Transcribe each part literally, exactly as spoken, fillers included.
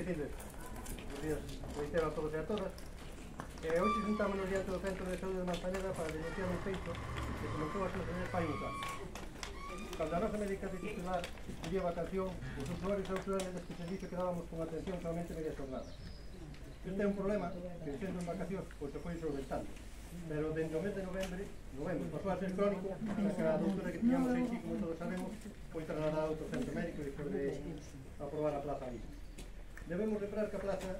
benvidos. Buenos días, reitero a todos e a todas. Eh, hoxe juntámonos diante do Centro de Saúde de Manzaneda para denunciar un feito que comentou a súa pai un caso. Cando a nosa médica titular pedía vacación, os usuarios e usuarias deste servicio quedábamos con atención solamente media jornada. Este é un problema que, sendo en vacacións, pois se foi solventando. Pero dende o mes de novembro, novembro pasou a ser crónico, na que a doutora que tiñamos aquí, como todos sabemos, foi trasladada a outro centro médico despois de aprobar a plaza ali. Debemos lembrar que a plaza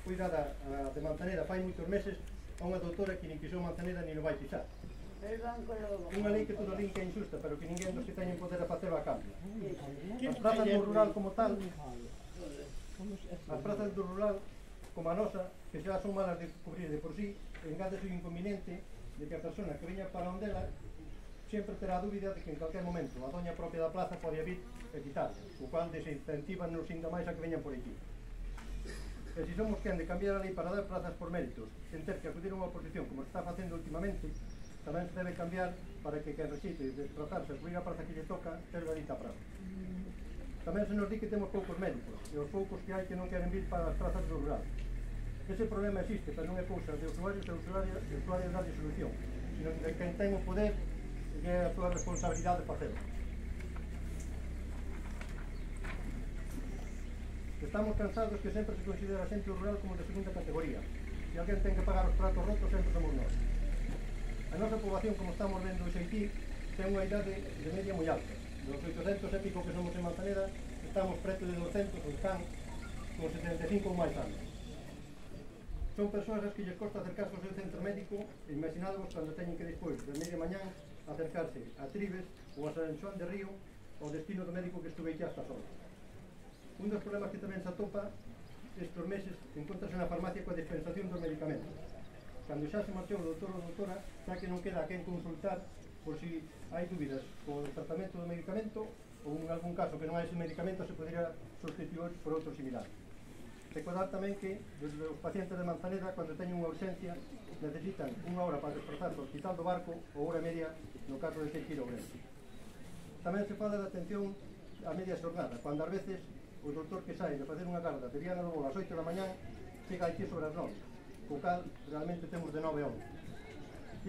foi dada a de Manzaneda fai moitos meses a unha doutora que nin pisou Manzaneda ni non vai pisar. Unha lei que toda lei que é injusta, pero que ninguén dos que teñen poder a facelo a cambio. As plazas do rural como tal, as plazas do rural como a nosa, que xa son malas de cubrir de por sí, engade o inconveniente de que a persona que veña para onde ela sempre terá a dúbida de que en calquer momento a doña propia da plaza pode vir e quitar, o cual desincentiva nos ainda máis a que veñan por aquí. E se somos quen de cambiar a lei para dar plazas por méritos, sen ter que acudir a unha oposición como se está facendo últimamente, tamén se debe cambiar para que quen rexeite desplazarse a cubrir a plaza que lle toca, terga dita praza. Tamén se nos di que temos poucos médicos, e os poucos que hai que non queren vir para as plazas do rural. Ese problema existe, pero non é cousa de usuarios e usuarias, de usuarios darlle solución, sino de quen ten o poder e que é a súa responsabilidade de facelo. Estamos cansados que sempre se considera a xente rural como de segunda categoría. Se alguén ten que pagar os pratos rotos, sempre somos nós. A nosa poboación, como estamos vendo hoxe aquí, ten unha idade de media moi alta. Dos oitocentos e pico que somos en Manzaneda, estamos preto de douscentos, ou están con setenta e cinco ou máis anos. Son persoas as que lles costa acercarse ao seu centro médico e imaginadvos cando teñen que despois de media mañán acercarse a Tribes ou a San Xoán de Río ao destino do médico que estuve xa estas horas. Un dos problemas que tamén se atopa estes meses encontrase na farmacia coa dispensación dos medicamentos. Cando xa se marchou o doutor ou doutora, xa que non queda a quen consultar por si hai dúbidas co tratamento do medicamento ou en algún caso que non hai ese medicamento se podría sustituir por outro similar. Recordar tamén que os pacientes de Manzaneda, cando teñen unha urgencia, necesitan unha hora para desplazarse ao hospital do Barco ou hora e media no caso de ter que ir ao Ourense. Tamén se fala de atención a media xornada, cando ás veces o doutor que sai de facer unha garda de Viana do Bolo ás oito da mañán chega aquí sobre as nove, co cal realmente temos de nove a once.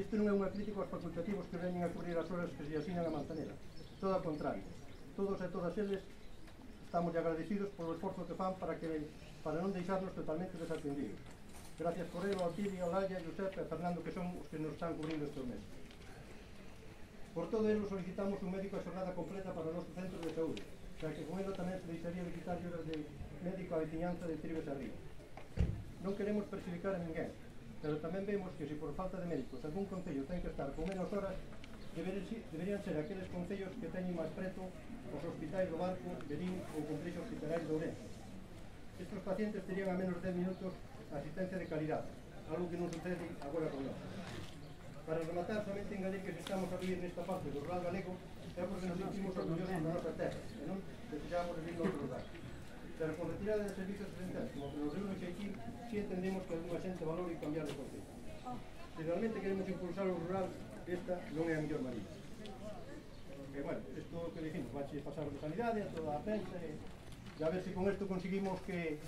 Isto non é unha crítica aos facultativos que veñen a cubrir as horas que se asinan a Manzaneda, todo ao contrario. Todos e todas eles estamos agradecidos polo esforzo que fan para que para non deixarnos totalmente desatendidos. Gracias por ello ao Tiri, ao Laia, Josep e Fernando, que son os que nos están cubrindo estes meses. Por todo ello solicitamos un médico a xornada completa para o noso centro de saúde, xa que con ello tamén se deixaría de quitar horas de médico a veciñanza de Tribes a Río. Non queremos perjudicar a ninguén, pero tamén vemos que se por falta de médicos algún concello ten que estar con menos horas, deberían ser aqueles concellos que teñen máis preto os hospitais do Barco, Berín ou complexo hospitalario de Ourense. Estes pacientes terían a menos de dez minutos asistencia de calidade, algo que non sucede agora con nós. Para rematar, somente engadir que se estamos a vivir nesta parte do rural galego é porque nos sentimos orgullosos da nosa terra e non desexamos vivir noutro lugar. Pero con retirada de servicios esenciais, como que nos reúnen aquí, si entendemos que alguna xente valore cambiar de concepto. Se realmente queremos impulsar o rural, esta non é a mellor maneira. E, bueno, isto que dijimos, vai pasar de sanidade a toda a prensa e a ver se con isto conseguimos que